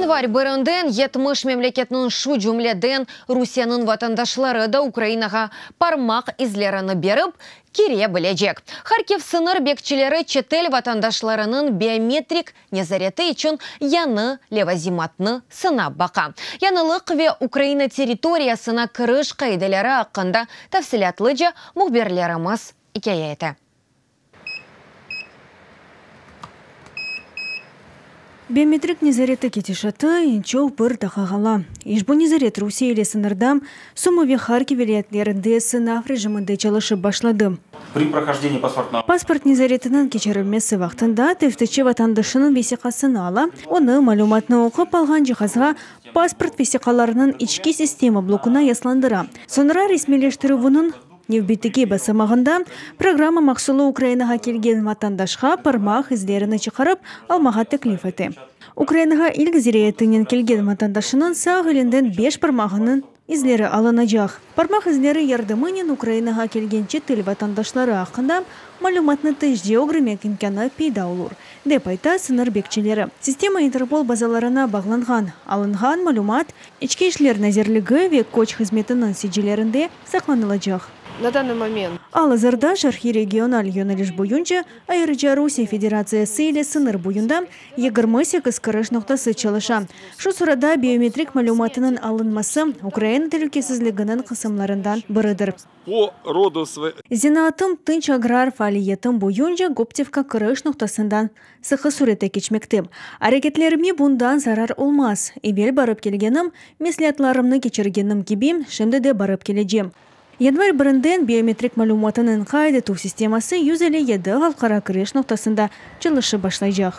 Yanvar birinden 70 memleketniñ, şu cümleden Rusiyeniñ vatandaşları da Ukrainağa parmaq izlerini berip, kire bilecek. Harkiv sıñır bekçileri çetel vatandaşlarınıñ biometrik nezareti içün yañı levazimatnı sınap baqa. Yañılıq ve Ukraina territoriyasına kiriş qaideleri aqqında tafsilâtlıca mühbirlerimiz ikâye ete. Biometrik nezareti ketişatı eñ çoq bir daqqa qala. İşbu nezaret Rusiye ile sıñırda Sumı ve Harkiv vilâyetlerinde sınav rejiminde çalışıp başladı. Pasport nezaretiniñ keçirilmesi vaqtında teftişçi vatandaşınıñ vesiqasını ala, onı malümatnı oqup alğan cihazğa pasport vesiqalarınıñ içki sistema blokuna yaslandıra. Soñra resmiyleştirüvniñ Nevbetteki basamağında programma mahsulı Ukrainağa kelgen vatandaşqa parmaq izlerini çıqarıp almağa teklif ete. Ukrainağa ilk ziyaretinen kelgen vatandaşınıñ sağ elinden beş parmağınıñ izleri alınacaq. Parmaq izleri yardımınen Ukrainağa kelgen çetel vatandaşları aqqında malümatnı tezce ögrenmek imkânı peyda olur, dep ayta sıñır bekçileri. Sistema Interpol bazalarına bağlanğan. Alınğan malümat İçki işler nazirligi ve köç hızmetiniñ sicillerinde saqlanılacaq. Na danıy moment. Al-azırda şarqiy regional yöneliş boyunca, ayrıca Rusiye Federatsiyası ile sıñır boyunda 28 kiriş noqtası çalışa. Şu sırada biometrik malümatınıñ alınması Ukraina telükesizliginiñ qısımlarından biridir. Po rodu svoy. Zenaatım tınç agrar faaliyetim boyunca Goptevka kiriş noqtasından sıqı sürette keçmekte. Areketlerime bundan zarar olmaz. Evel barıp kelgenim, mesleatlarımnı keçirgenim kibi, şimdi de barıp kelecem. Yanvar birinden biometrik malümatınıñ qayd etüv sisteması 157 halqara kiriş noqtasında çalışıp başlaycaq.